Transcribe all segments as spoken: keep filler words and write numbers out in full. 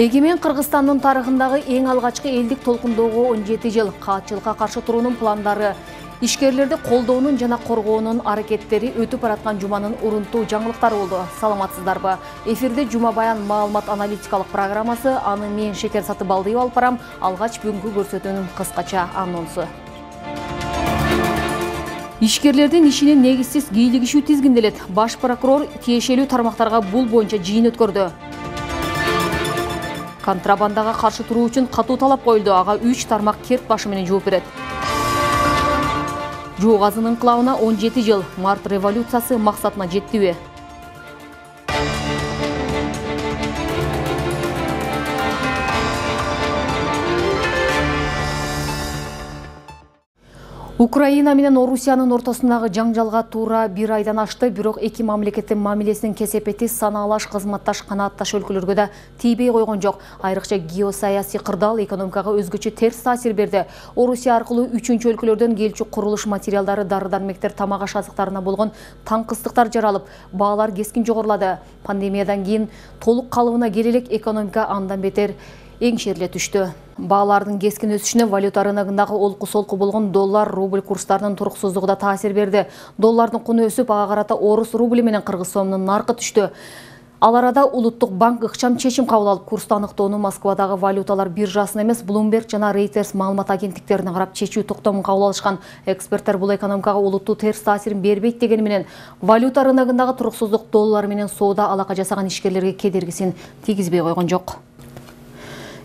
Эгемен Кыргызстандын тарыхындагы эң алгачкы элдик толкундоого он жети жыл каатчылыкка каршы туруунун пландары, ишкерлерди колдоонун жана коргоонун аракеттери өтүп бараткан жуманын урунтуу жаңылыктары болду. Саламатсыздарбы? Эфирде Жума Баян маалымат аналитикалык программасы, аны мен Шекер Сатыбалдиев алып барам. Алгач бүгүнкү көрсөтүүнүн кыскача анонсу. Ишкерлердин ишинин негизсиз кийлигишүү тизгинделет. Баш прокурор тиешелүү тармактарга бул боюнча жыйын өткөрдү. Контрабандага каршы туруу үчүн катуу талап коюлду. Ага үч тармак керт башы менен жооп берет. Жоо газынын инкылабына он жети жыл. Март революциясы максатына жеттиби? Украина менен Орусиянын ортосундагы жаңжалга туура бир айдан ашты, бирок эки мамлекеттин мамилесинин кесепети санаалаш кызматташ канаатташ өлкөлөргө да тийбей койгон жок. Айрыкча геосаясий кырдаал экономикага өзгөчө терс таасир берди. Орусия аркылуу үчүнчү өлкөлөрдөн келчү курулуш материалдары, дары-дармектер, тамак аш азыктарына болгон таңкыстыктар жаралып, баалар кескин жогорулады. Пандемиядан кийин толук калыбына келе элек экономика андан бетер эңшериле түштү. Баалардын кескин өсүшүнө валюта рыногундагы олку-солку болгон доллар, рубль курстарынын туруксуздугу да таасир берди. Доллардын куну өсүп, ага карата орус рубли менен кыргыз сомунун наркы түштү. Ал арада Улуттук банк ыкчам чечим кабыл алып, курсту аныктоону Москвадагы валюталар биржасына эмес, Bloomberg жана Reuters маалымат агенттиктерине карап чечүү токтомун кабыл алышкан. Эксперттер бул экономикага олуттуу терс таасирин бербейт дегени менен, валюта рыногундагы туруксуздук доллар менен соода алака жасаган ишкерлерге кедергисин тийгизбей койгон жок.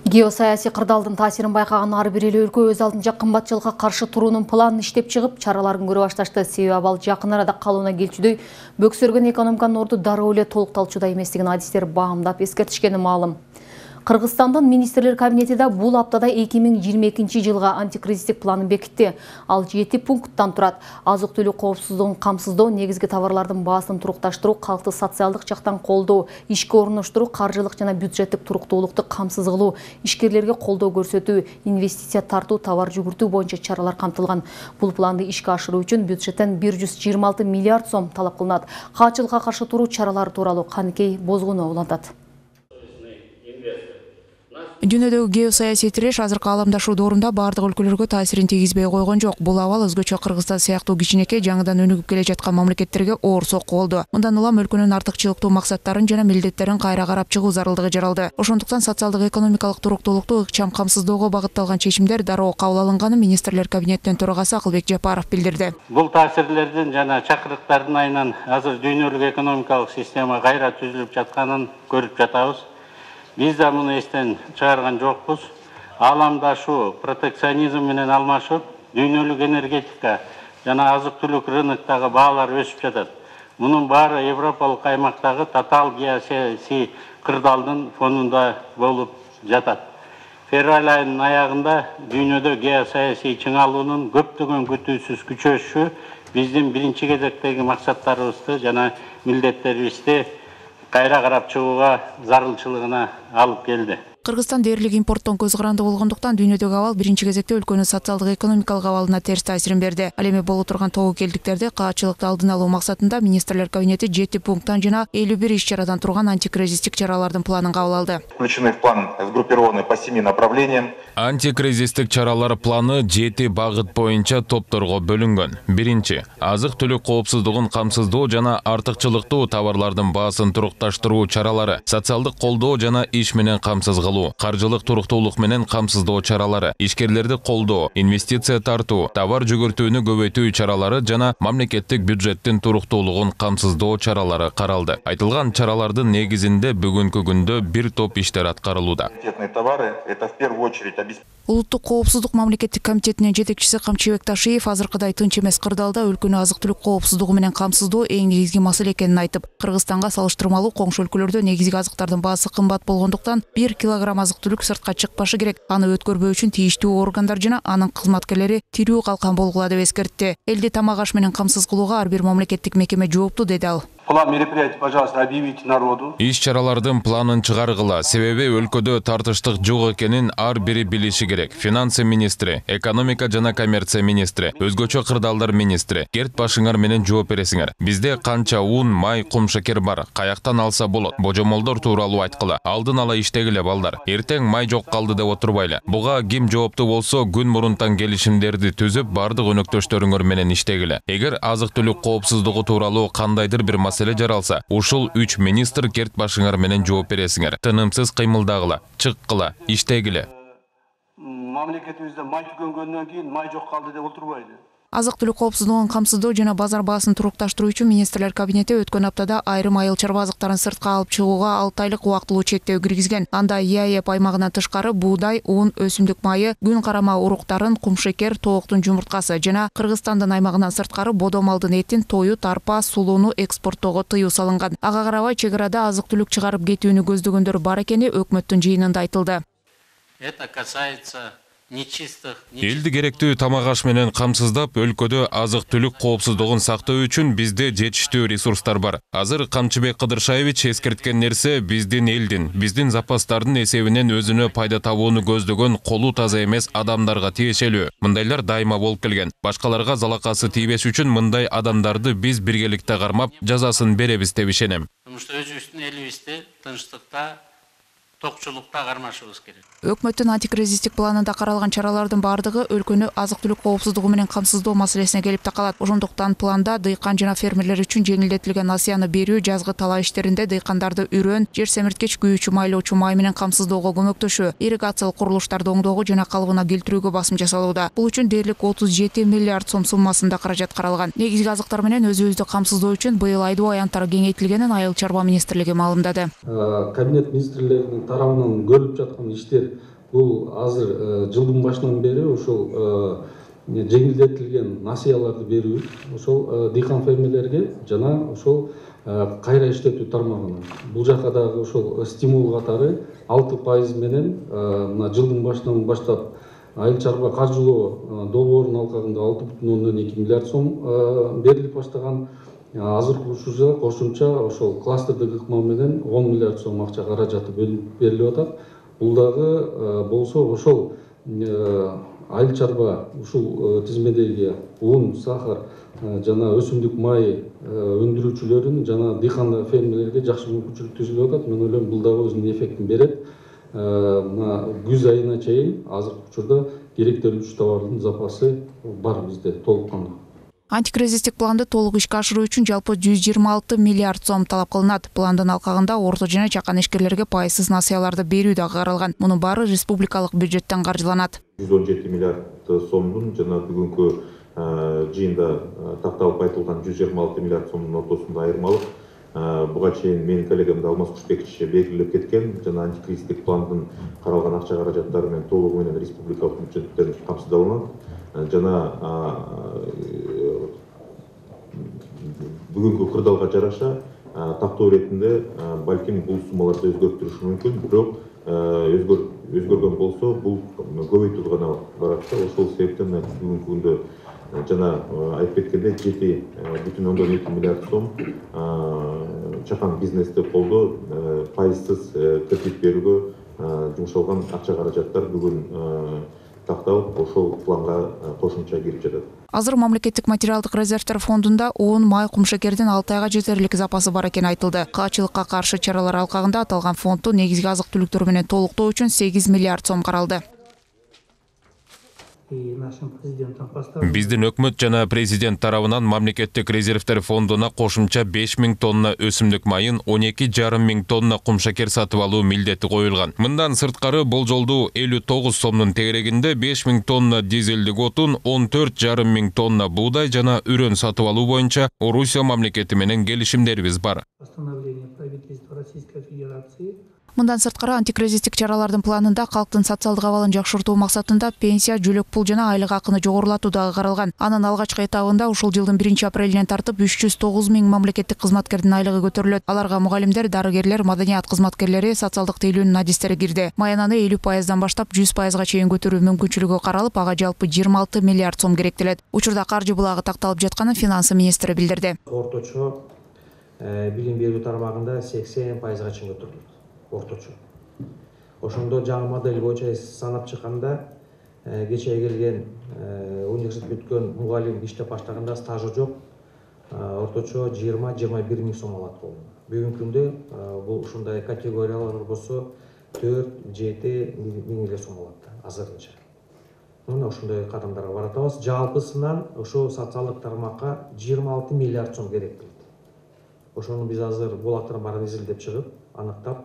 Геосаясий кырдаалдын таасирин байкаган ар бир эл өлкө өз алдынча кымбатчылыкка каршы туруунун планын иштеп чыгып, чараларын көрө башташты. Себеби ал жакын арада калыбына келчүдөй бөксөргөн экономиканын орду дароо эле толукталчуда эместигин адистер баамдап эскертишкени маалым. Кыргызстандын министрлер кабинети да бул аптада эки миң жыйырма экинчи жылга антикризистик планын бекитти. Ал жети пункттан турат. Азык-түлүк коопсуздугун камсыздоо, негизги товарлардын баасын турукташтыруу, калкты социалдык жактан колдоо, ишке орноштуруу, каржылык жана бюджеттик туруктуулукту камсыз кылуу, ишкерлерге колдоо көрсөтүү, инвестиция тартуу, товар жүгүртүү боюнча чаралар камтылган. Бул планды ишке ашыруу үчүн бюджеттен бир жүз жыйырма алты миллиард сом талап кылынат. Каатчылыкка каршы туруу чаралары тууралуу Каныкей Бозгунова улантат. Дүйнөдөгү геосаясий тиреш азыркы аламдашуу доорунда бардык өлкөлөргө таасирин тийгизбей койгон жок. Бул абал өзгөчө Кыргызстан сыяктуу кичинекей жаңыдан өнүгүп келе жаткан мамлекеттерге оор сокку болду. Мындан улам өлкөнүн артыкчылыктуу максаттарын жана милдеттерин кайра карап чыгуу зарылдыгы жаралды. Ошондуктан социалдык экономикалык туруктуулукту ыкчам камсыздоого багытталган чечимдер дароо кабыл алынганын министрлер кабинетинин төрагасы Акылбек Жапаров билдирди. Бул таасирлердин жана чакырыктардын айынан азыр дүйнөлүк экономикалык система кайра түзүлүп жатканын көрүп жатабыз. Биз да муну эстен чыгарган жокпуз. Аламдашуу, протекционизм менен алмашып, дүйнөлүк энергетика жана азык-түлүк рыноктогу баалар өсүп жатат. Мунун баары Европалык аймактагы татаал геосаясий кырдаалдын фонунда болуп жатат. Февраль айынын аягында дүйнөдө геосаясий чыңалуунун көптөгөн күтүүсүз күчөшүшү биздин биринчи кезектеги максаттарыбызды жана милдеттерибизди кайра карап чыгууга зарылчылыгына алып келди. Кыргызстан дээрлик импорттон көз каранды болгондуктан дүйнөдөгү абал биринчи кезекте өлкөнүн социалдык экономикалык абалына терс таасирин берди. Ал эми боло турган тобокелдиктерди каатчылыкты алдын алуу максатында министрлер кабинети жети пункттан жана элүү бир иш-чарадан турган антикризистик чаралардын планын кабыл алды. Включены в план сгруппированы по семи направлениям. Антикризистик чаралар планы жети багыт боюнча топторго бөлүнгөн. Биринчи, азык-түлүк коопсуздугун камсыздоо жана артыкчылыктуу товарлардын баасын турукташтыруу чаралары, социалдык колдоо жана иш менен камсыз кылуу, каржылык туруктуулук менен камсыздоо чаралары, ишкерлерди колдоо, инвестиция тартуу, товар жүгүртүүнү көбөйтүү чаралары жана мамлекеттик бюджеттин туруктуулугун камсыздоо чаралары каралды. Айтылган чаралардын негизинде бүгүнкү күндө бир топ иштер аткарылууда. Улуттук коопсуздук мамлекеттик комитетинин жетекчиси Камчыбек Ташиев азыркыдай тынч эмес кырдаалда өлкөнү азык-түлүк коопсуздугу менен камсыздоо эң негизги маселе экенин айтып, Кыргызстанга салыштырмалуу коңшу өлкөлөрдө негизги азыктардын баасы кымбат болгондуктан бир килограмм азык-түлүк сыртка чыкпашы керек. Аны өткөрбөө үчүн тийиштүү органдар жана анын кызматкерлери тирүү калкан болгула деп эскертти. Элди тамак аш менен камсыз кылууга ар бир мамлекеттик мекеме жоопту, деди ал. План мероприятий, пожалуйста, объявите народу. Иш чаралардын планын чыгаргыла, себеби өлкөдө тартыштык жок экенин ар бири билиши керек. Финансы министри, экономика жана коммерция министри, өзгөчө кырдаалдар министри, Керт башыңар менен жооп бересиңер. Бизде канча ун, май, кум шекер бар, каяктан алса болот? Божомолдор тууралуу айткыла, алдын ала иштегиле балдар. Эртең май жок калды деп отурбайлы. Буга ким жооптуу болсо, күн мурунтан келишимдерди түзүп, бардык өнөктөштөрүңөр менен иштегиле. Эгер азык-түлүк коопсуздугу тууралуу кандайдыр бир маселе жаралса, ушул үч министр Керт башыңар менен жооп бересиңер. Тынымсыз кыймылдагыла, чыккыла, иштегиле. Мамлекетибизде май түгөнгөндөн кийин май жок калды деп отурбайлы. Азык-түлүк коопсуздугун камсыздоо жана базар баасын турукташтыруу үчүн министрлер кабинети өткөн аптада айрым айыл чарба азыктарын сыртка алып чыгууга алты айлык убактылуу чектөө киргизген. Анда ЕАЭП аймагынан тышкары буудай, un, өсүмдүк майы, күн карама уруктарын, кумшекер, тооктун жумурткасы жана Кыргызстандын аймагынан сырткары бодо малдын этин, тоют, арпа, сулууну экспорттоого тыюу салынган. Ага карабай чек арада азык-түлүк чыгарып кетүүнү көздөгөндөр бар экени өкмөттүн жыйынында айтылды. Это касается нечистых. Элди керектүү тамак аш менен камсыздап, өлкөдө азык-түлүк коопсуздугун сактоо үчүн бизде жетиштүү ресурстар бар. Азыр Камчыбек Кыдыршаевич эскерткен нерсе биздин элдин, биздин запастардын эсебинен өзүнө пайда табууну көздөгөн колу таза эмес адамдарга тиешелүү. Мындайлар дайыма болуп келген. Башкаларга залакасы тийбеш үчүн мындай адамдарды биз биргеликте кармап, жазасын беребиз деп ишенем. Потому что өзүбүздүн элибизде тынчтыкта, токчулукта кармашыбыз керек. Өкмөттүн антикризистик планында каралган чаралардын бардыгы өлкөнү азык-түлүк коопсуздугу менен камсыздоо маселесине келип такалат. Ошондуктан планда дыйкан жана фермерлер үчүн жеңилдетилген насыяны берүү, жазгы талаа иштеринде дыйкандарды үрөн, жер семирткич, күйүүчү майлоочу май менен камсыздоого көмөктөшүү, ирригациялык курулуштарды оңдоого жана калыбына келтирүүгө басым жасалууда. Бул үчүн дээрлик отуз жети миллиард сом суммасында каражат каралган. Негизги азыктар менен өзүбүздү камсыздоо үчүн быйыл айдоо аянттары кеңейтилгенин Айыл чарба министрлиги маалымдады. Кабинет министрлеринин тарабынан көрүлүп жаткан иштер бул азыр жылдын башынан бери ошол жеңилдетилген насыяларды берүү, ошол дыйкан фермерлерге жана ошол кайра иштетүү тармагына. Бул жака дагы ошол стимул катары алты пайыз менен мына жылдын башынан баштап айыл чарба каржылоо долбоорунун алкагында алты бүтүн ондон эки миллиард сом берилип баштаган. Азыр курушууда кошумча ошол кластердик ыкма менен он миллиард сом акча каражаты берилип атат. Бул дагы болсо ошол айыл чарба ушул тизмедеги un, сахар жана өсүмдүк май өндүрүүчүлөрүн жана дыйкан фермерлерге жакшы мүмкүнчүлүк түзүлүп атат. Мен ойлойм бул дагы өзүнүн эффектин берет. Мына күз айына чейин азыркы учурда керектелүүчү товардын запасы бар бизде толук кандуу. Антикризистик планды толук ишке ашыруу үчүн жалпы жүз жыйырма алты миллиард сом талап кылынат. Пландын алкагында орто жана чакан ишкерлерге пайызсыз насыяларды берүү дагы каралган. Мунун баары республикалык бюджеттен каржыланат. жүз он жети миллиард сомдун жана бүгүнкү жыйында такталып айтылган жүз жыйырма алты миллиард сомдун ортосунда айырмалык буга чейин менин коллегам Алмаз Кушбекович белгилеп кеткен жана антикризистик пландын каралган акча каражаттары менен толугу менен республикалык бюджеттен камсыздалынат. Жана бүгүнкү кырдаалга жараша тактоо иретинде балким бул суммаларды өзгөртүрүш мүмкүн, бирок өзгөргөн болсо бул көбөйтүү гана барат да. Ошол себептен бүгүнкү күндө жана айтып кеткендей жети бүтүн ондон эки миллиард сом чакан бизнести колдоо, пайызсыз кредит берүүгө жумшалган акча каражаттар бүгүн такталып, ошол планга кошумча кирип жатат. Азыр мамлекеттик материалдык резервтер фондунда un, май, кумшекердин алты айга жетерлик запасы бар экени айтылды. Каачылыкка каршы чаралар алкагында аталган фондду негизги азык-түлүктөр менен толуктоо үчүн сегиз миллиард сом каралды. Биздин өкмөт жана президент тарабынан мамлекеттик резервтер фондуна кошумча беш миң тонна өсүмдүк майын, он эки жарым миң тонна кумшекер сатып алуу милдети коюлган. Мындан сырткары болжолдуу элүү тогуз сомдун тегерегинде беш миң тонна дизелдик отун, он төрт жарым миң тонна буудай жана үрөн сатып алуу боюнча Орусия мамлекети менен келишимдерибиз бар. Мындан сырткары антикризистик чаралардын планында калктын социалдык абалын жакшыртуу максатында пенсия, жүлөк пул жана айлык акыны жогорулатуу дагы каралган. Анын алгачкы этабында ушул жылдын биринчи апрелинен тартып үч жүз тогуз миң мамлекеттик кызматкердин айлыгы көтөрүлөт. Аларга мугалимдер, дарыгерлер, маданият кызматкерлери, социалдык тейлөөнүн адистери кирди. Маянаны элүү пайыздан баштап жүз пайызга чейин көтөрүү мүмкүнчүлүгү каралып, ага жалпы жыйырма алты миллиард сом керектелет. Учурда каржы булагы такталып жатканын финансы министри билдирди. Орточо билим берүү тармагында сексен пайызга чейин көтөрүлөт орточо. Ошондо жаңы модель боюнча санап чыкканда кечээ келген университет бүткөн мугалим иштеп баштаганда стажы жок, орточо жыйырма жыйырма бир миң сом алат болду. Бүгүнкү күндө бул ушундай категориялар болсо төрт жети миң эле сом алат азырынча. Мына ошондой кадамдарга баратабыз. Жалпысынан ошо социалдык тармакка жыйырма алты миллиард сом керек дейт. Ошону биз азыр булактарын баарын изилдеп чыгып, аныктап,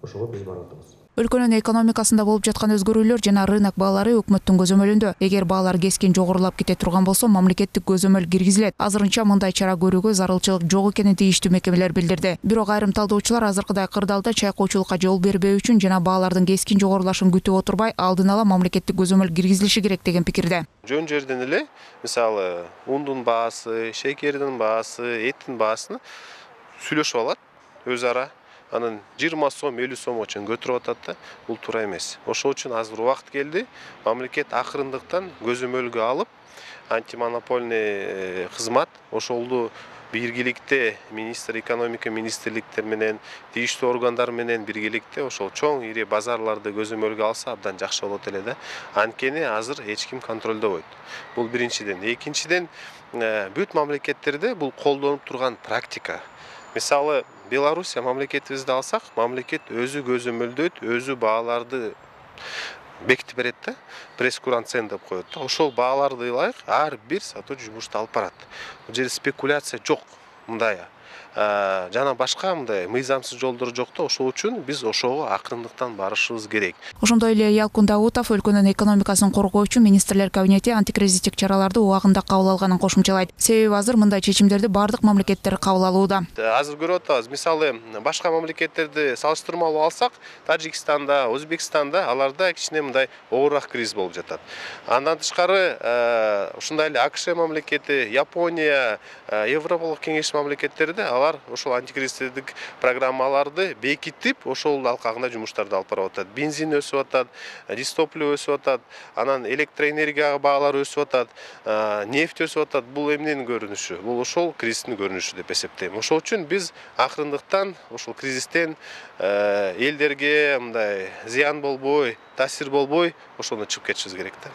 ошого биз баратабыз. Өлкөнүн экономикасында болуп жаткан өзгөрүүлөр жана рынок баалары өкмөттүн көзөмөлүндө. Эгер баалар кескин жогорулап кете турган болсо, мамлекеттик көзөмөл киргизилет. Азырынча мындай чара көрүүгө зарылчылык жок экенин тийиштүү мекемелер билдирди. Бирок айрым талдоочулар азыркыдай кырдаалда чайкоочулукка жол бербөө үчүн жана баалардын кескин жогорулашын күтүп отурбай, алдын ала мамлекеттик көзөмөл киргизилиши керек деген пикирде. Жөн жерден эле, мисалы, ундун баасы, шекердин баасы, эттин баасын сүйлөшүп алат өз ара. Анан жыйырма сом, элүү сомго чейин көтөрүп атат да, бул туура эмес. Ошол үчүн азыр убакыт келди, мамлекет акырындыктан көзөмөлгө алып, антимонопольный кызмат ошолду биргеликте министр экономика министрликтер менен, тийиштүү органдар менен биргеликте ошол чоң ири базарларды көзөмөлгө алса абдан жакшы болот эле да. Анткени азыр эч ким контролдобойт. Бул биринчиден. Экинчиден, бүт мамлекеттерде бул колдонуп турган практика. Мисалы, Белоруссия мамлекетибизди алсак, мамлекет өзү көзөмөлдөйт, өзү бааларды бекитип берет да, прескурант цен деп коет да. Ошол бааларды ылайык ар бир сатуучу жумушту алып барат. Бул жерде спекуляция жок, мындай жана башка мындай мыйзамсыз жолдор жок да. Ошол үчүн биз ошого акырындыктан барышыбыз керек. Ошондой эле Ялкын Даутов өлкөнүн экономикасын коргоо үчүн министрлер кабинети антикризистик чараларды убагында кабыл алганын кошумчалайт. Себеби азыр мындай чечимдерди бардык мамлекеттер кабыл алууда. Азыр көрүп атабыз, мисалы, башка мамлекеттерди салыштырмалуу алсак, Тажикстанда, Өзбекстанда аларда кичине мындай оорураак криз болуп жатат. Андан тышкары, ушундай эле АКШ мамлекети, Япония, Европалык кеңеш мамлекеттерде алар ошол антикризистик программаларды бекитип, ошол алкагында жумуштарды алып барып атат. Бензин өсүп атат, дистопливо өсүп атат, анан электроэнергия баалары өсүп атат, нефть өсүп атат. Бул эмненин көрүнүшү? Бул ошол кризистин көрүнүшү деп эсептейм. Ошол үчүн биз акырындыктан ошол кризистен элдерге мындай зыян болбой, таасир болбой, ошондон чыгып кетишибиз керек да.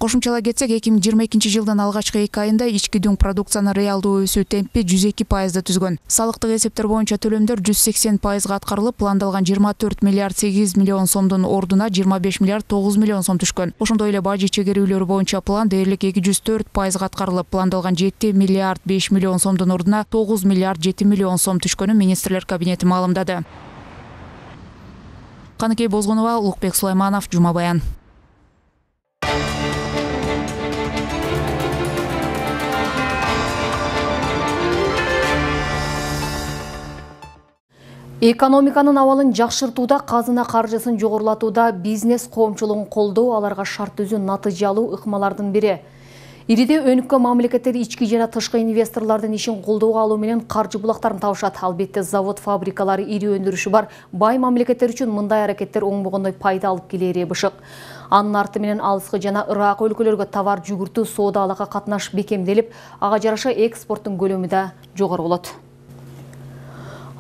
Кошумчалай кетсек, эки миң жыйырма экинчи жылдын алгачкы эки айында ички дүң продукциянын реалдуу өсүү темпи жүз эки пайызды түзгөн. Салыктык эсептер боюнча төлөмдөр жүз сексен пайызга аткарылып, пландалган жыйырма төрт миллиард сегиз миллион сомдун ордуна жыйырма беш миллиард тогуз миллион сом түшкөн. Ошондой эле бажы чегерүүлөрү боюнча план дээрлик эки жүз төрт пайызга аткарылып, пландалган жети миллиард беш миллион сомдун ордуна тогуз миллиард жети миллион сом түшкөнүн министрлер кабинети маалымдады. Каныкей Бозгонова, Улукбек Сулайманов, Жума Баян. Экономиканын абалын жакшыртууда, казына каржысын жогорулатууда бизнес коомчулугун колдоо, аларга шарт түзүү натыйжалуу ыкмалардын бири. Ириде өнүккөн мамлекеттер ички жана тышкы инвесторлордун ишин колдоого алуу менен каржы булактарын табышат. Албетте, завод, фабрикалары, ири өндүрүшү бар бай мамлекеттер үчүн мындай аракеттер оңбогондой пайда алып келери бышык. Анын арты менен алыскы жана ырак өлкөлөргө товар жүгүртүү, соода алакка катнаш бекемделип, ага жараша экспорттун көлөмү да жогору болот.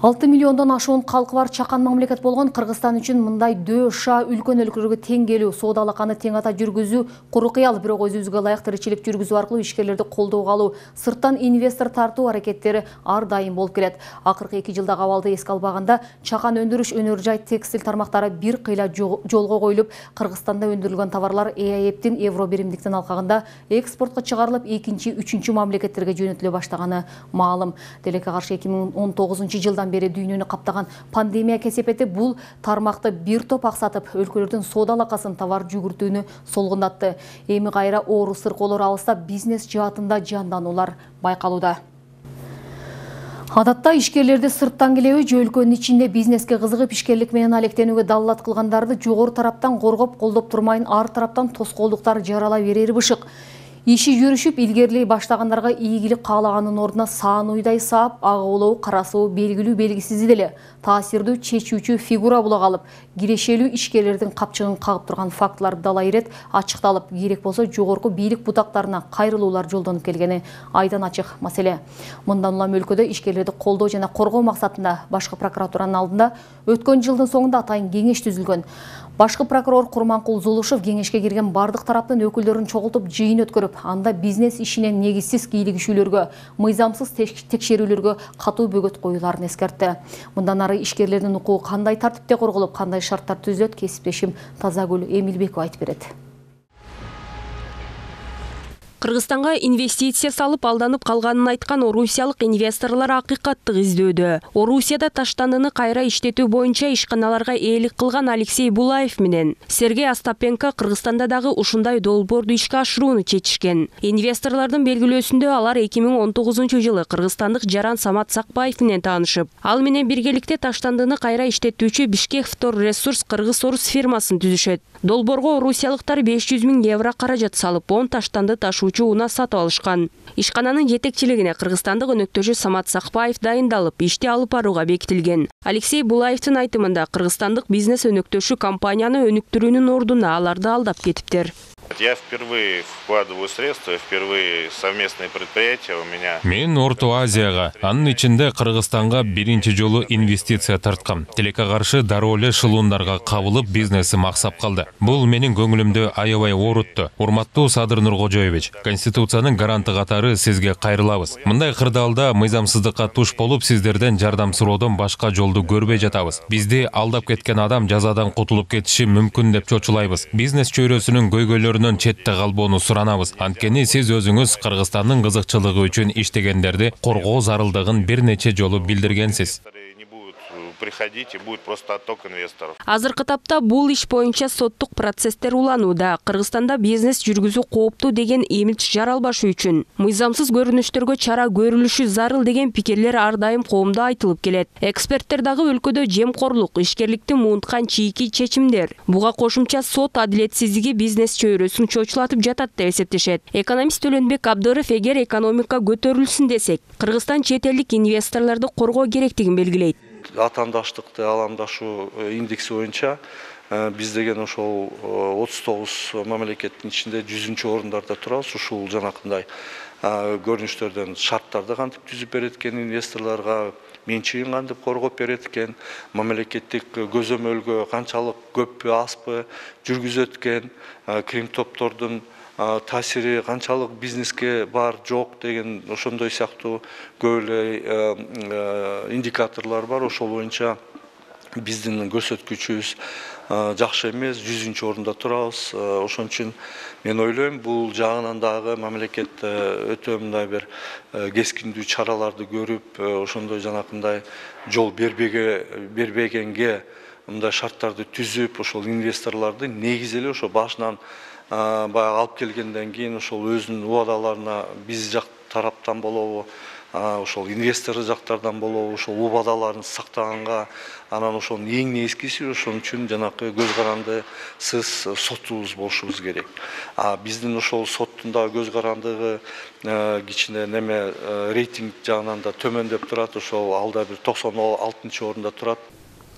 алты миллиондон ашуун калкы бар чакан мамлекет болгон Кыргызстан үчүн мындай дөша үлкөн өлкөлөргө тең келүү, соода алаканы тең ата жүргүзүү куру кыял, бирок өзүбүзгө ылайык тиричилик жүргүзүү аркылуу ишкерлерди колдоого алуу, сырттан инвестор тартуу аракеттери ар дайым болуп келет. Акыркы эки жылдагы абалды эске албаганда, чакан өндүрүш, өнөр жай, текстиль тармактары бир кыйла жолго коюлуп, Кыргызстанда өндүрүлгөн товарлар ЭАЭптин евро биримдиктин алкагында экспортко чыгарылып, экинчи, үчүнчү мамлекеттерге жөнөтүлө баштаганы маалым. Делекке каршы эки миң он тогузунчу жылдан бери дүйнөнү каптаган пандемия кесепети бул тармакты бир топ аксатып, өлкөлөрдүн соода алакасын, товар жүгүртүүнү солгундатты. Эми кайра оору сыркоолор алыстап, бизнес жаатында жандануулар байкалууда. Адатта ишкерлерди сырттан келеби же өлкөнүн ичинде бизнеске кызыгып ишкерлик менен алектенүүгө даллат кылгандарды жогору тараптан коргоп, колдоп турмайын ар тараптан тоскоолдуктар жарала берери бышык. Иши жүрүшүп илгерилей баштагандарга ийгилик каалаганын ордуна саан уйдай саап, ага олоо карасуу белгилүү белгисиз деле таасирдүү чечүүчү фигура була калып, кирешелүү ишкерлердин капчыгын кагып турган фактылар дала ирет ачыкталып, керек болсо жогорку бийлик бутактарына кайрылуулар жолдонуп келгени айдан ачык маселе. Мындан улам өлкөдө ишкерлерди колдоо жана коргоо максатында башкы прокуратуранын алдында өткөн жылдын соңунда атайын кеңеш түзүлгөн. Башкы прокурор Курманкул Зулушев кеңешке кирген бардык тараптын өкүлдөрүн чогултуп жыйын өткөрүп, анда бизнес ишинен негизсиз кийлигишүүлөргө, мыйзамсыз текшерүүлөргө катуу бөгөт коюуларын эскертти. Мындан ары ишкерлердин укугу кандай тартипте корголуп, кандай шарттар түзүлөт, кесиптешим Тазагүл Эмилбекова айтып берет. Кыргызстанга инвестиция салып алданып калганын айткан орусиялык инвесторлор акыйкаттык издөөдө. Орусияда таштандыны кайра иштетүү боюнча ишканаларга ээлик кылган Алексей Булаев менен Сергей Остапенко Кыргызстанда дагы ушундай долбоорду ишке ашырууну чечишкен. Инвесторлордун белгилөөсүндө алар эки миң он тогузунчу жылы кыргызстандык Жаран Самат Сакбаев менен таанышып, ал менен биргеликте таштандыны кайра иштетүүчү Бишкек Втор Ресурс Кыргыз-Орус фирмасын түзүшөт. Долбоорго орусиялыктар беш жүз миң евро каражат салып, он таштанды ташуучу унаа сатып алышкан. Ишкананын жетекчилигине кыргызстандык өнөктөшү Самат Сакбаев дайындалып, ишти алып барууга бекитилген. Алексей Булаевдин айтымында кыргызстандык бизнес өнөктөшү компанияны өнүктүрүүнүн ордуна аларды алдап кетиптир. Я впервые вкладываю средства, впервые совместные предприятия у меня. Мен Орто Азияга, анын ичинде Кыргызстанга биринчи жолу инвестиция тарткам. Тилекке каршы дароо эле шылуундарга кабылып бизнесим аксап калды. Бул менин көңүлүмдү аябай оорутту. Урматтуу Садыр Нуркожоевич, Конституциянын гаранты катары сизге кайрылабыз. Мындай кырдаалда мыйзамсыздыкка туш болуп, сиздерден жардам суроодон башка жолду көрбөй жатабыз. Бизди алдап кеткен адам жазадан кутулуп кетиши мүмкүн деп чочулайбыз. Бизнес чөйрөсүнүн көйгөйлөрүнөн четте калбоону суранабыз. Анткени сиз өзүңүз Кыргызстандын кызыкчылыгы үчүн иштегендерди коргоо зарылдыгын бир нече жолу билдиргенсиз. Приходите, будет просто отток инвесторов. Азыркы тапта бул иш боюнча соттук процесстер уланууда. Кыргызстанда бизнес жүргүзүү кооптуу деген имидж жаралбашы үчүн мыйзамсыз көрүнүштөргө чара көрүлүшү зарыл деген пикирлер ар дайым коомдо айтылып келет. Эксперттер дагы өлкөдө жемкорлук, ишкерликти муунткан чийки чечимдер, буга кошумча сот адилетсиздиги бизнес чөйрөсүн чочулатып жатат деп эсептешет. Экономист Төлөнбек Абдыров эгер экономика көтөрүлсүн десек, Кыргызстан чет элдик инвесторлорду коргоо керектигин белгилейт. Атаандаштыкты аламдашуу индекси боюнча биз деген ошол отуз тогуз мамлекеттин ичинде жүзүнчү орундарда турабыз. Ушул жанакындай көрүнүштөрдөн шарттарды кантип түзүп берет экен, инвесторлорго менчигин кантип коргоп берет экен, мамлекеттик көзөмөлгө канчалык көппү азбы жүргүзөт экен, крим топтордун таасири канчалык бизнеске бар жок деген ошондой сыяктуу көп эле индикаторлор бар. Ошол боюнча биздин көрсөткүчүбүз жакшы эмес, жүзүнчү орунда турабыз. Ошон үчүн мен ойлойм, бул жагынан дагы мамлекет өтө мындай бир кескиндүү чараларды көрүп, ошондой жанакындай жол бербегенге мындай шарттарды түзүп, ошол инвесторлорду негизи эле ошо башынан баягы алып келгенден кийин ошол өзүнүн убадаларына биз жак тараптан болобу, ошол инвестор жактардан болобу, ошол убадаларын сактаганга, анан ошонун эң негизгиси ошон үчүн жанакы көз карандысыз сотубуз болушубуз керек. А биздин ошол соттун дагы көз карандыгы кичине неме рейтинг жагынан да төмөндөп турат, ошол алда бир токсон алтынчы орунда турат.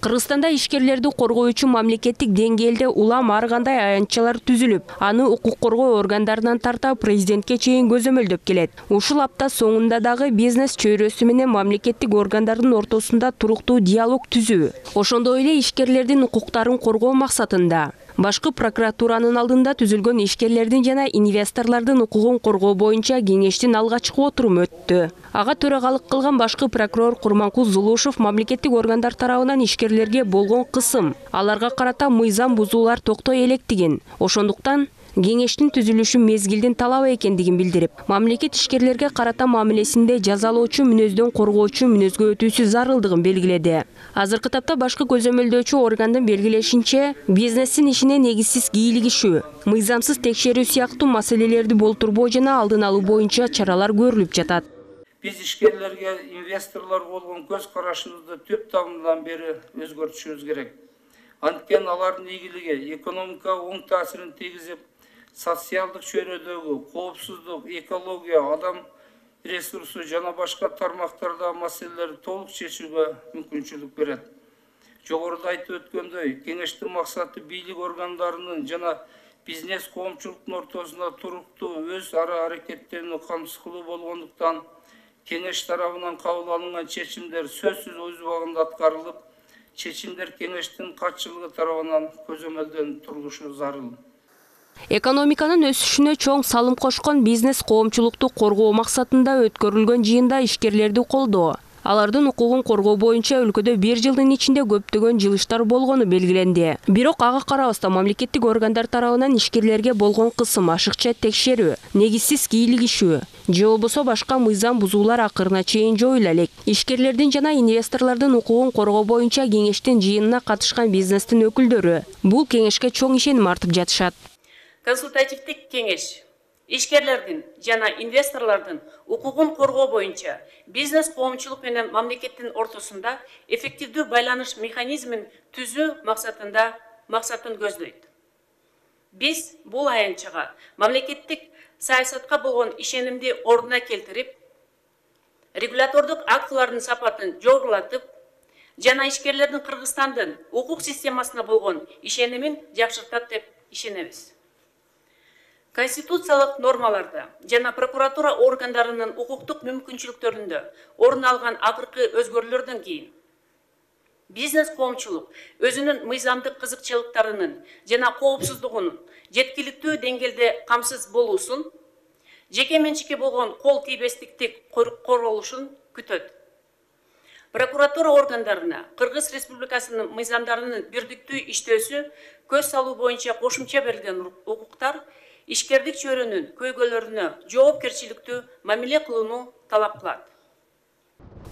Кыргызстанда ишкерлерди коргоо үчүн мамлекеттик деңгээлде улам ар кандай аянтчалар түзүлүп, аны укук коргоо органдарынан тарта президентке чейин көзөмөлдөп келет. Ушул апта соңунда дагы бизнес чөйрөсү менен мамлекеттик органдардын ортосунда туруктуу диалог түзүү, ошондой эле ишкерлердин укуктарын коргоо максатында башкы прокуратуранын алдында түзүлгөн ишкерлердин жана инвесторлордун укугун коргоо боюнча кеңештин алгачкы отуруму өттү. Ага төрагалык кылган башкы прокурор Курманкул Зулушев мамлекеттик органдар тарабынан ишкерлерге болгон кысым, аларга карата мыйзам бузуулар токтой электигин, ошондуктан кеңештин түзүлүшү мезгилдин талабы экендигин билдирип, мамлекет ишкерлерге карата мамилесинде жазалоочу мүнөздөн коргоочу мүнөзгө өтүүсү зарылдыгын белгиледи. Азыркы тапта башкы көзөмөлдөөчү органдын белгилешинче, бизнестин ишине негизсиз кийлигишүү, мыйзамсыз текшерүү сыяктуу маселелерди болтурбоо жана алдын алуу боюнча чаралар көрүлүп жатат. Биз ишкерлерге, инвесторлорго болгон көз карашыбызды түп тамырдан бери өзгөртүшүбүз керек. Анткени алардын ийгилиги экономикага оң таасирин тийгизип, социалдык чөйрөдөгү коопсуздук, экология, адам ресурсу жана башка тармактардагы маселелерди толук чечүүгө мүмкүнчүлүк берет. Жогоруда айтып өткөндөй, кеңештин максаты бийлик органдарынын жана бизнес коомчулуктун ортосунда туруктуу өз ара аракеттерин камсыз кылуу болгондуктан кеңеш тарабынан кабыл алынган чечимдер сөзсүз өз убагында аткарылып, чечимдер кеңештин катчылыгы тарабынан көзөмөлдөнүп турулушу зарыл. Экономиканын өсүшүнө чоң салым кошкон бизнес коомчулукту коргоо максатында өткөрүлгөн жыйында ишкерлерди колдоо, алардын укугун коргоо боюнча өлкөдө бир жылдын ичинде көптөгөн жылыштар болгону белгиленди. Бирок ага карабастан мамлекеттик органдар тарабынан ишкерлерге болгон кысым, ашыкча текшерүү, негизсиз кийлигишүү же болбосо башка мыйзам бузуулар акырына чейин жоюла элек. Ишкерлердин жана инвесторлордун укугун коргоо боюнча кеңештин жыйынына катышкан бизнестин өкүлдөрү бул кеңешке чоң ишеним артып жатышат. Консультативдик кеңеш ишкерлердин жана инвесторлордун укугун коргоо боюнча бизнес коомчулук менен мамлекеттин ортосунда эффективдүү байланыш механизмин түзүү максатында максатын көздөйт. Биз бул аянтчага мамлекеттик саясатка болгон ишенимди ордуна келтирип, регулятордук актылардын сапатын жогорулатып, жана ишкерлердин Кыргызстандын укук системасына болгон ишенимин жакшыртат деп ишенебиз. Конституциялык нормаларда жана прокуратура органдарынын укуктук мүмкүнчүлүктөрүндө орун алган акыркы өзгөрүүлөрдөн кийин бизнес коомчулук өзүнүн мыйзамдык кызыкчылыктарынын жана коопсуздугунун жеткиликтүү деңгээлде камсыз болуусун, жеке менчикке болгон кол тийбестиктик корголушун күтөт. Прокуратура органдарына Кыргыз Республикасынын мыйзамдарынын бирдиктүү иштөөсү көз салуу боюнча кошумча берилген укуктар ишкердик чөйрөнүн көйгөйлөрүнө жоопкерчиликтүү мамиле кылууну талап кылат.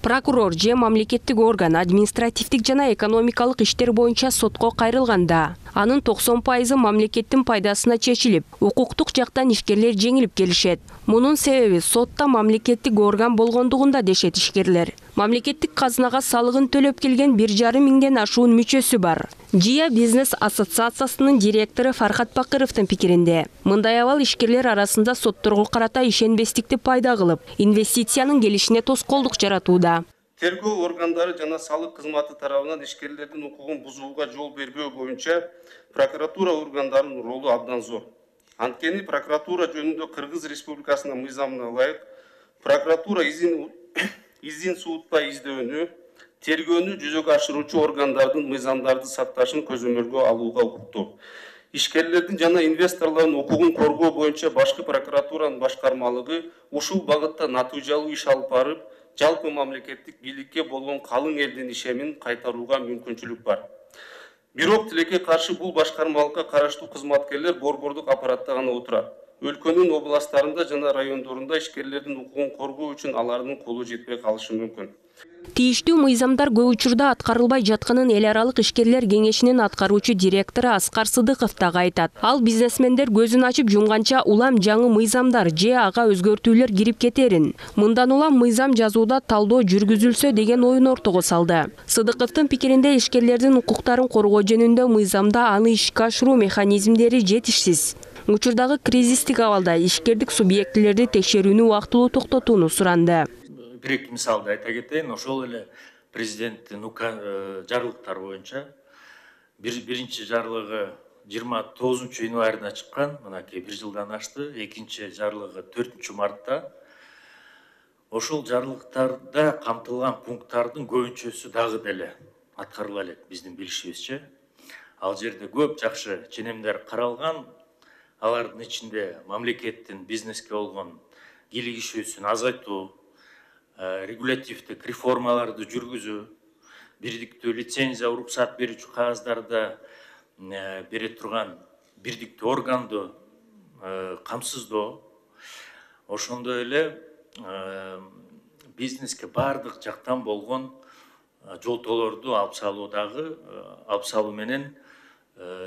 Прокурор же мамлекеттик орган административдик жана экономикалык иштер боюнча сотко кайрылганда, анын токсон пайызы мамлекеттин пайдасына чечилип, укуктук жактан ишкерлер жеңилип келишет. Мунун себеби сотто мамлекеттик орган болгондугунда дешет ишкерлер. Мамлекеттик казынага салыгын төлөп келген бир жарым миңден ашуун мүчөсү бар. Жия бизнес ассоциациясынын директору Фархат Бакыровдун пикиринде, мындай абал ишкерлер арасында сотторго карата ишенбестикти пайда кылып, инвестициянын келишине тоскоолдук жаратууда. Тергөө органдары жана салык кызматы тарабынан ишкерлердин укугун бузууга жол бербөө боюнча прокуратура органдарынын ролу абдан зор. Анткени прокуратура жөнүндө Кыргыз Республикасынын мыйзамына ылайык прокуратура изин изин суутпай издөөнү, тергөөнү жүзөгө ашыруучу органдардын мыйзамдарды сакташын көзөмөлгө алууга укуктуу. Ишкерлердин жана инвесторлордун укугун коргоо боюнча башкы прокуратуранын башкармалыгы ушул багытта натыйжалуу иш алып барып, жалпы мамлекеттик бийликке болгон калың элдин ишемин кайтарууга мүмкүнчүлүк бар. Бирок тилекке каршы бул башкармалыкка караштуу кызматкерлер борбордук аппаратта гана отурат. Өлкөнүн областтарында жана райондорунда ишкерлердин укугун коргоо үчүн алардын колу жетпей калышы мүмкүн. Тийиштүү мыйзамдар көп учурда аткарылбай жатканын эл аралык ишкерлер кеңешинин аткаруучу директору Аскар Сыдыков дагы айтат. Ал бизнесмендер көзүн ачып жумганча улам жаңы мыйзамдар же ага өзгөртүүлөр кирип кетерин, мындан улам мыйзам жазууда талдоо жүргүзүлсө деген оюн ортого салды. Сыдыковдун пикиринде ишкерлердин укуктарын коргоо жөнүндө мыйзамда аны ишке ашыруу механизмдери жетишсиз. Учурдагы кризистик абалда ишкердик субъектилерди текшерүүнү убактылуу токтотууну суранды. Бир-эки мисалды айта кетейин, ошол эле президенттин жарлыктары боюнча биринчи жарлыгы жыйырма тогузунчу январда чыккан, мынакей бир жылдан ашты, экинчи жарлыгы төртүнчү мартта. Ошол жарлыктарда камтылган пункттардын көбүнчөсү дагы деле аткарыла элек биздин билишибизче. Ал жерде көп жакшы ченемдер каралган. Алардын ичинде мамлекеттин бизнеске болгон кийлигишүүсүн азайтуу, регулятивдик реформаларды жүргүзүү, бирдиктүү лицензия, уруксат берүүчү кагаздарды бере турган бирдиктүү органды камсыздоо, ошондой эле бизнеске баардык жактан болгон жолтоолорду алып салуудагы алып салуу менен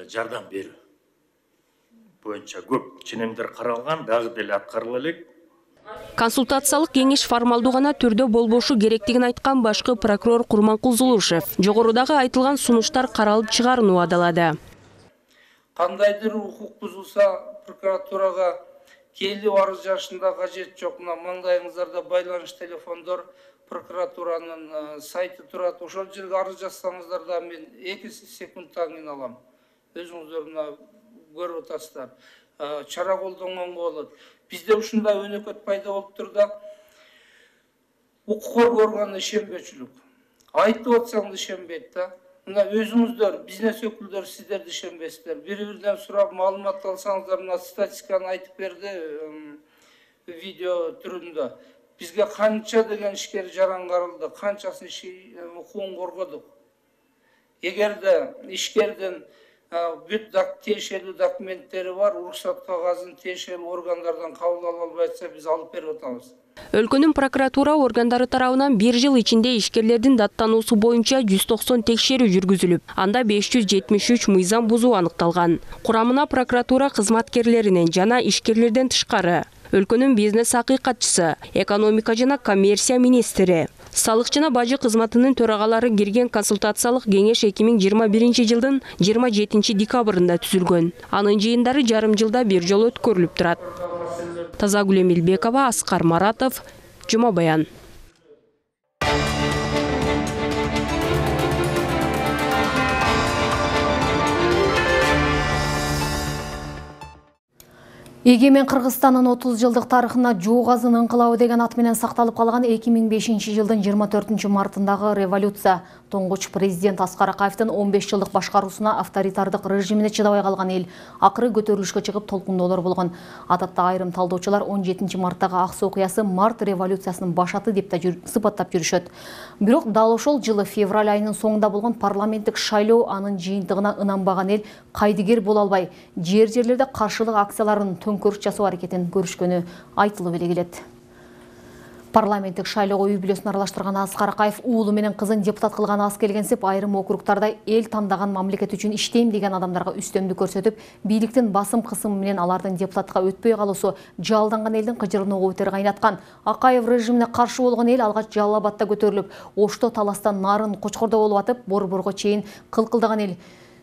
жардам берүү боюнча көп ченемдер каралган, дагы деле аткарыла элек. Консультациялык кеңеш формалдуу гана түрдө болбошу керектигин айткан башкы прокурор Курманкул Зулушев жогорудагы айтылган сунуштар каралып чыгаарын убадалады. Кандайдыр укук бузулса, прокуратурага келип арыз жазышында кажет жок. Мына маңдайыңыздарда байланыш телефондор прокуратуранын сайты турат. Ошол жерге арыз жазсаңыздар да мен эки секундтан кийин алам. Өзүңүздөр мына көрүп атасыздар. Чара колдонгонго болот. Бизде ушундай өнөкөт пайда болуптур да. Укук коргоо органына ишенбөөчүлүк. Айтып атсаң да ишенбейт да. Мына өзүңүздөр, бизнес өкүлдөр сиздер ишенбейсиздер. Бири-биринен сурап маалымат алсаңыздар, мына статистиканы айтып берди видео түрүндө. Бизге канча деген ишкер жарангарылды, канчасын укугун коргодук. Эгерде ишкердин бүт тиешелүү документтери бар, уруксат кагазын тиешелүү органдардан кабыл ала албай атса, биз алып берип атабыз. Өлкөнүн прокуратура органдары тарабынан бир жыл ичинде ишкерлердин даттануусу боюнча жүз токсон текшерүү жүргүзүлүп, анда беш жүз жетимиш үч мыйзам бузуу аныкталган. Курамына прокуратура кызматкерлеринен жана ишкерлерден тышкары өлкөнүн бизнес акыйкатчысы, экономика жана коммерция министри, салык жана бажы кызматынын төрагалары кирген консультациялык кеңеш эки миң жыйырма биринчи жылдын жыйырма жетинчи декабрында түзүлгөн. Анын жыйындары жарым жылда бир жолу өткөрүлүп турат. Тазагүл Эмилбекова, Аскар Маратов, Жума Баян. Эгемен Кыргызстандын отуз жылдык тарыхына Жоогазын ыңкылабы деген ат менен сакталып калган эки миң бешинчи жылдын жыйырма төртүнчү мартындагы революция тоңгуч президент Аскар Акаевдин он беш жылдык башкаруусуна авторитардык режимине чыдабай калган эл акыры көтөрүлүшкө чыгып толкундоолор болгон. Адатта айрым талдоочулар он жетинчи марттагы аксы окуясы март революциясынын башаты деп да сыпаттап жүрүшөт. Бирок дал ошол жылы февраль айынын соңунда болгон парламенттик шайлоо анын жыйынтыгына ынанбаган эл кайдыгер боло албай, жер-жерлерде каршылык акцияларын төңкөрүш жасоо аракетин көрүшкөнү айтылып эле келет. Парламенттик шайлоого үй бүлөсүн аралаштырган Аскар Акаев уулу менен кызын депутат кылган аз келгенсип, айрым округтарда эл тандаган мамлекет үчүн иштейм деген адамдарга үстөмдүк көрсөтүп, бийликтин басым кысымы менен алардын депутатка өтпөй калуусу жалданган элдин кыжырын угуу бетер кайнаткан. Акаев режимине каршы болгон эл алгач Жалал Абадта көтөрүлүп, Ошто таластан нарын Кочкордо болуп атып, Борборго чейин кылкылдаган эл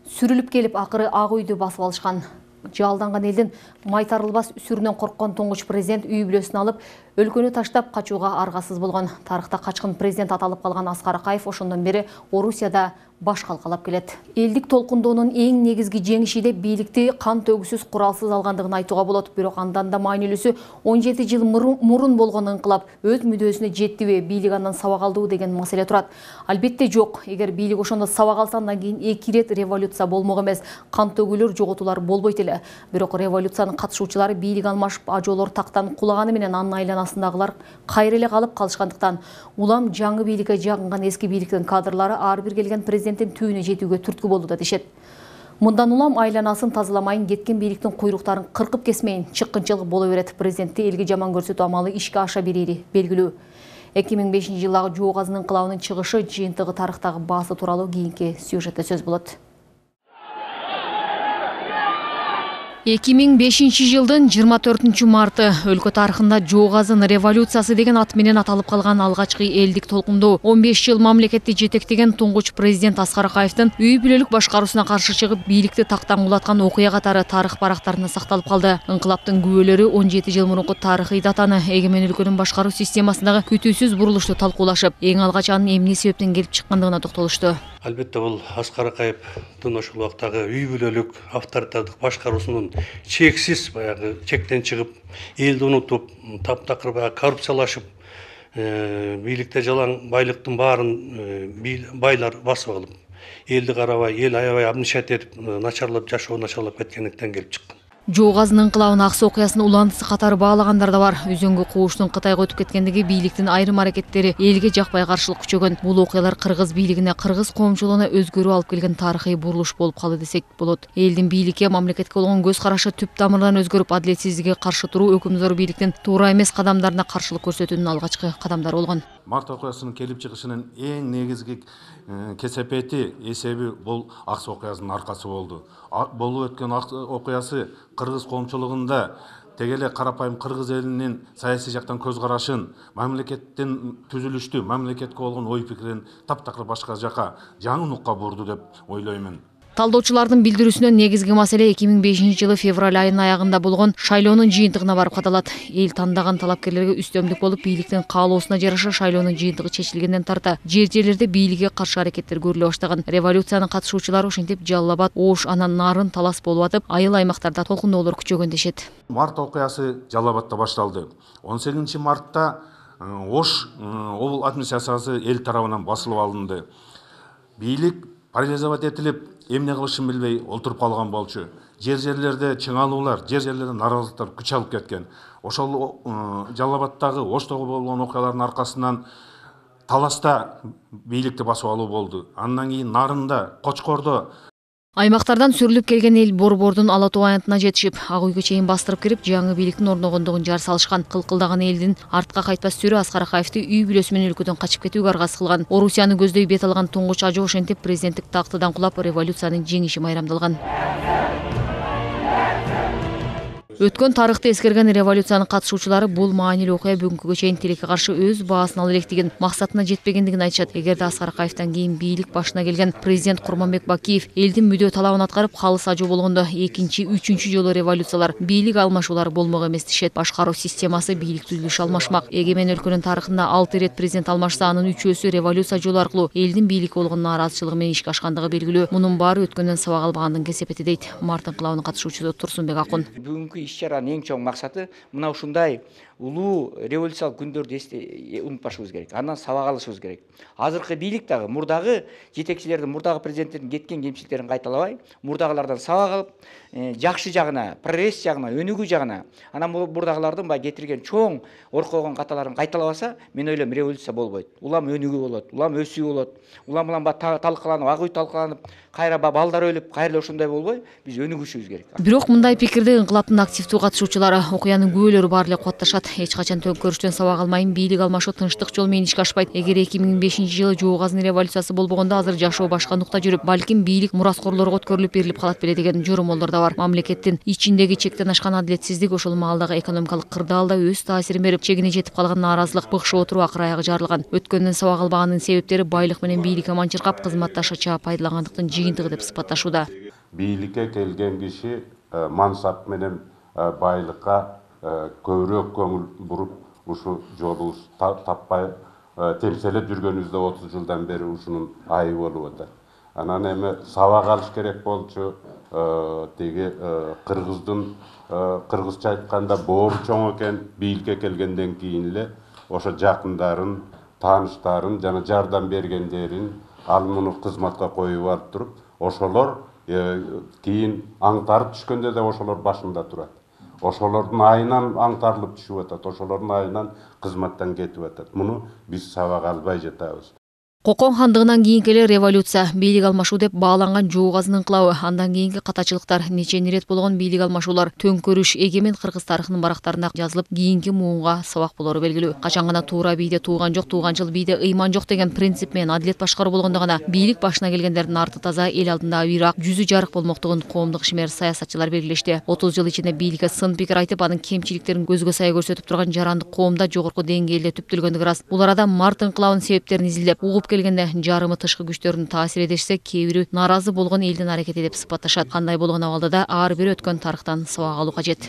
сүрүлүп келип, акыры Ак үйдү басып алышкан. Жалданган элдин майтарылбас сүрүнөн корккон тоңгуч президент үй бүлөсүн алып, өлкөнү таштап качууга аргасыз болгон. Тарыхта качкын президент аталып калган Аскар Акаев ошондон бери Орусияда баш калкалап келет. Элдик толкундоонун эң негизги жеңиши деп бийликти кан төгүсүз куралсыз алгандыгын айтууга болот. Бирок андан да маанилүүсү он жети жыл мурун болгон ыңкылап өз мүдөөсүнө жеттиби, бийлик андан сабак алдыбы деген маселе турат. Албетте жок. Эгер бийлик ошондо сабак алса, андан кийин эки ирет революция болмок эмес, кан төгүүлөр, жоготуулар болбойт эле. Бирок революциянын катышуучулары бийлик алмашып, ажоолор тактан кулаганы менен анын айланасындагылар кайра эле калып калышкандыктан улам жаңы бийликке жагынган эски бийликтин кадрлары ар бир келген президенттин түйүнө жетүүгө түрткү болду да дешет. Мындан улам айланасын тазаламайын, кеткен бийликтин куйруктарын кыркып кесмейин, чыккынчылык боло берет. Президентти элге жаман көрсөтүү амалы ишке аша берери белгилүү. эки миң бешинчи жылдагы Жоогазын ыңкылабынын чыгышы, жыйынтыгы, тарыхтагы баасы тууралуу кийинки сюжетте сөз болот. эки миң бешинчи жылдын жыйырма төртүнчү марты өлкө тарыхында Жоогазын революциясы деген ат менен аталып калган алгачкы элдик толкундоо. он беш жыл мамлекетти жетектеген туңгуч президент Аскар Акаевдин үй бүлөлүк башкаруусуна каршы чыгып, бийликти тактан кулаткан окуя катары тарых барактарында сакталып калды. Инкылаптын күбөлөрү он жети жыл мурунку тарыхый датаны, эгемен өлкөнүн башкаруу системасындагы күтүүсүз бурулушту талкуулашып, эң алгач анын эмне себептен келип чыккандыгына токтолушту. Албетте бул Аскар Акаевдин ошол убактагы үй бүлөлүк авторитардык башкаруусунун чексиз баягы чектен чыгып, элди унутуп, таптакыр баягы коррупциялашып, бийликте жалаң байлыктын баарын байлар басып алып, элди карабай, эл аябай абнишат этип, начарлап жашоо начарлап кеткендиктен келип чыккан. Жоогазын ыңкылабынын аксы окуясын улантысы катары баалагандар да бар. Үзөңгү кууштун Кытайга өтүп кеткендиги, бийликтин айрым аракеттери элге жакпай каршылык күчөгөн. Бул окуялар кыргыз бийлигине, кыргыз коомчулугуна өзгөрүү алып келген тарыхый бурулуш болуп калды десек болот. Элдин бийликке, мамлекетке болгон көз карашы түп тамырдан өзгөрүп, адилетсиздикке каршы туруу өкүмзор бийликтин туура эмес кадамдарына каршылык көрсөтүүнүн алгачкы кадамдары болгон. Март окуясынын келип чыгышынын эң негизги кесепети, эсеби бул аксы окуясынын аркасы болду. Болуп өткөн окуясы кыргыз коомчулугунда теге эле карапайым кыргыз элинин саясий жактан көз карашын, мамлекеттин түзүлүштү, мамлекетке болгон ой пикирин таптакыр башка жака, жаңы нукка бурду деп ойлоймун. Талдоочулардын билдирүүсүнөн негизги маселе эки миң бешинчи жылы февраль айынын аягында болгон шайлоонун жыйынтыгына барып кадалат. Эл тандаган талапкерлерге үстөмдүк болуп, бийликтин каалоосуна жараша шайлоонун жыйынтыгы чечилгенден тарта жер-жерлерде бийликке каршы аракеттер көрүлө баштаган. Революциянын катышуучулары ошентип Жалал Абад, Ош, анан Нарын талас болуп атып, айыл аймактарда толкундоолор күчөгөн дешет. Март окуясы Жалал Абадта башталды. он сегизинчи мартта Ош обул администрациясы эл тарабынан басылып алынды. Бийлик парализовать этилип, эмне кылышын билбей олтуруп калган болчу. Жер-жерлерде чыңалуулар, жер-жерлерде наразылыктар күч алып кеткен. Ошол Жалал Абадтагы, Оштогу болгон окуялардын аркасынан таласта бийликти басып алуу болду. Андан кийин Нарында, Кочкордо Аймактардан сүрүлүп келген эл Борбордун Ала Тоо аянтына жетишип, ак үйгө чейин бастырып кирип, жаңы бийликтин орногондугун жар салышкан. Кылкылдаган элдин артка кайтпас сүрү Аскар Акаевди үй бүлөсү менен өлкөдөн качып кетүүгө аргасыз кылган. Орусияны көздөй бет алган туңгуч ажоо ошентип президенттик тактыдан кулап, революциянын жеңиши майрамдалган. Өткөн тарыхты эскерген революциянын катышуучулары бул маанилүү окуя бүгүнкүгө чейин тилекке каршы өз баасын ала электигин, максатына жетпегендигин айтышат. Эгерде Аскар Акаевден кийин бийлик башына келген президент Курманбек Бакиев элдин мүдө талабын аткарып, калыс ажоо болгондо экинчи, үчүнчү жолу революциялар, бийлик алмашуулар болмок эмес дешет. Башкаруу системасы, бийлик түзүлүшү алмашмак. Эгемен өлкөнүн тарыхында алты ирет президент алмашса, анын үчөөсү революция жолу аркылуу элдин бийликке болгон нааразычылыгы менен ишке ашкандыгы белгилүү. Мунун баары өткөндөн сабак албагандын кесепети дейт Март инкылабынын катышуучусу Турсунбек Акун. Бүгүнкү иш-чаранын эң чоң максаты мына ушундай улуу революциялык күндөрдү унутпашыбыз керек. Андан сабак алышыбыз керек. Азыркы бийлик дагы мурдагы жетекчилердин, мурдагы президенттердин кеткен кемчиликтерин кайталабай, мурдагылардан сабак алып, жакшы жагына, прогресс жагына, өнүгүү жагына, анан мурдагылардын бай кетирген чоң оркойгон каталарын кайталабаса, мен ойлойм революция болбойт. Улам өнүгүү болот, улам өсүү болот. Улам улам талкаланып, ак үй талкаланып, кайра балдар өлүп, кайра ошондой болбой, биз өнүгүшүбүз керек. Бирок мындай пикирди инкылаптын активдүү катышуучулары, окуянын күбөлөрү баары эле кубатташат. Эч качан төңкөрүштөн сабак алмайм, бийлик алмашуу тынчтык жол менен ишке ашпайт. Эгер эки миң бешинчи жылы Жуугазын революциясы болбогондо, азыр жашоо башка нукта жүрүп, балким бийлик мураскорлорго өткөрүлүп берилип калат беле деген жоромолдор да бар. Мамлекеттин ичиндеги чектен ашкан адилетсиздик, ошол маалдагы экономикалык кырдаалда өз таасирин берип, чегине жетип калган нааразылык, быкшып отуруу акыр аягы жарылган. Өткөндөн сабак албаганын себептери байлык менен бийликке манчыркап, кызматташача пайдалангандыктын жыйынтыгы деп сыпатташууда. Бийликке келген киши мансап менен байлыкка көбүрөөк көңүл буруп, ушу жолу таппай темселеп жүргөнүбүздө отуз жылдан бери ушунун айы болуп атат. Анан эми сабак алыш керек болчу. Теги кыргыздын кыргызча айтканда боору чоң экен. Бийликке келгенден кийин эле ошо жакындарын, тааныштарын жана жардам бергендерин ал муну кызматка коюп алып туруп, ошолор кийин аңтарып түшкөндө да ошолор башында турат. Ошолордун айынан аңтарылып түшүп атат, ошолордун айынан кызматтан кетип атат. Муну биз сабак албай жатабыз. Кокон хандыгынан кийинки эле революция, бийлик алмашуу деп бааланган Жуугазын инкылабы, андан кийинки катачылыктар, нече ирет болгон бийлик алмашуулар, төңкөрүш эгемен кыргыз тарыхынын барактарында жазылып, кийинки муунга сабак болору белгилүү. Качан гана туура бийде тууган жок, тууганчыл бийде ыйман жок деген принцип менен адилет башкаруу болгондо гана бийлик башына келгендердин арты таза, эл алдында бирок жүзү жарык болмоктугун коомдук ишмер саясатчылар белгилешти. отуз жыл ичинде бийликке сын пикир айтып, анын кемчиликтерин көзгө сая көрсөтүп турган жарандык коомда жогорку деңгээлде түптөлгөндүгү рас. Бул арада Март инкылабынын себептерин изилдеп, угуп келгенде жарымы тышкы күчтөрдүн таасири дешсе, кээ бири нааразы болгон элдин аракети деп сыпатташат. Кандай болгон абалда да ар бир өткөн тарыхтан сабак алуу кажет.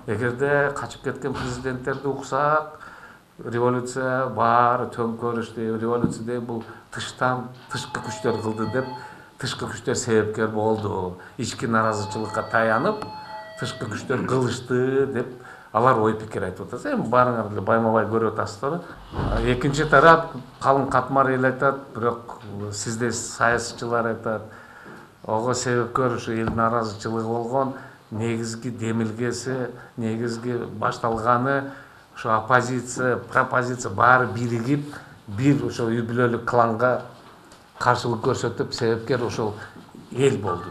Эгерде качып кеткен президенттерди уксак, революция баары төңкөрүштү, революция бул тыштан тышкы күчтөр кылды деп, тышкы күчтөр себепкер болду. Ички нааразычылыкка таянып, тышкы күчтөр кылышты деп алар ой пикир айтып атат. Эми баарыңар эле байма-бай көрүп атасыздар. Экинчи тарап калың катмар эл айтат, бирок сизде саясатчылар айтат. Ого себепкер ушу эл нааразычылыгы болгон, негизги демилгеси, негизги башталганы ушу оппозиция, пропозиция баары биригип, бир ошо үй бүлөлүк кланга каршылык көрсөтүп, себепкер ошол эл болду.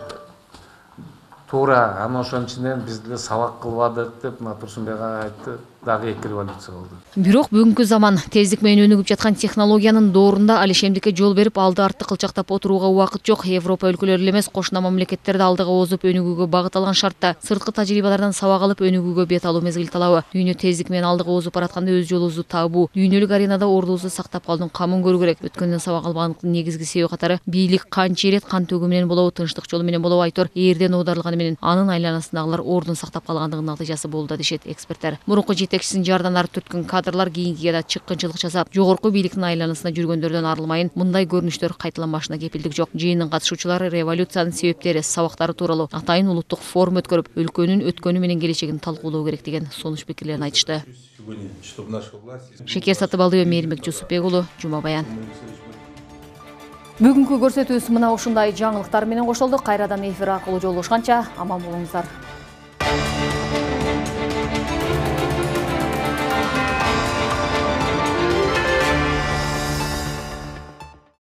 Туура, аны ошонун ичинен биз деле сабак кылбадык деп Турсунбек айтты. дагы эки революция болду. Бирок бүгүнкү заман тездик менен өнүгүп жаткан технологиянын доорунда алишемдикке жол берип, алды артты кылчактап отурууга убакыт жок. Европа өлкөлөрү эле эмес, кошуна мамлекеттерди алдыга озуп өнүгүүгө багыт алган шартта сырткы тажрыйбалардан сабак алып өнүгүүгө бет алуу мезгил талабы. Дүйнө тездик менен алдыга озуп баратканда өз жолубузду табуу, дүйнөлүк аренада ордубузду сактап калуунун камын көрүү керек. Өткөндөн сабак албагандыктын негизги себеби катары бийлик канча ирет кан төгүү менен болобу, тынчтык жолу менен болобу айтор эрден оодарылганы менен анын айланасындагылар ордун сактап калгандыгынын натыйжасы болду дешет эксперттер. Мурунку жетекчисин жардан арып өткөн кадрлар кийинкиге да чыккынчылык жасап, жогорку бийликтин айланасында жүргөндөрдөн арылмайын. Мындай көрүнүштөр кайталанбашына кепилдик жок. Жыйындын катышуучулары революциянын себептери, сабактары тууралуу атайын улуттук форум өткөрүп, өлкөнүн өткөнү менен келечегин талкуулоо керек деген сунуш пикирлерин айтышты. Шекер Сатыбалдиева, Мээринбек Жусупбек уулу, Жума Баян. Бүгүнкү көрсөтүүбүз мына ушундай жаңылыктар менен коштолду. Кайрадан эфир аркылуу жолугушканча аман болуңуздар.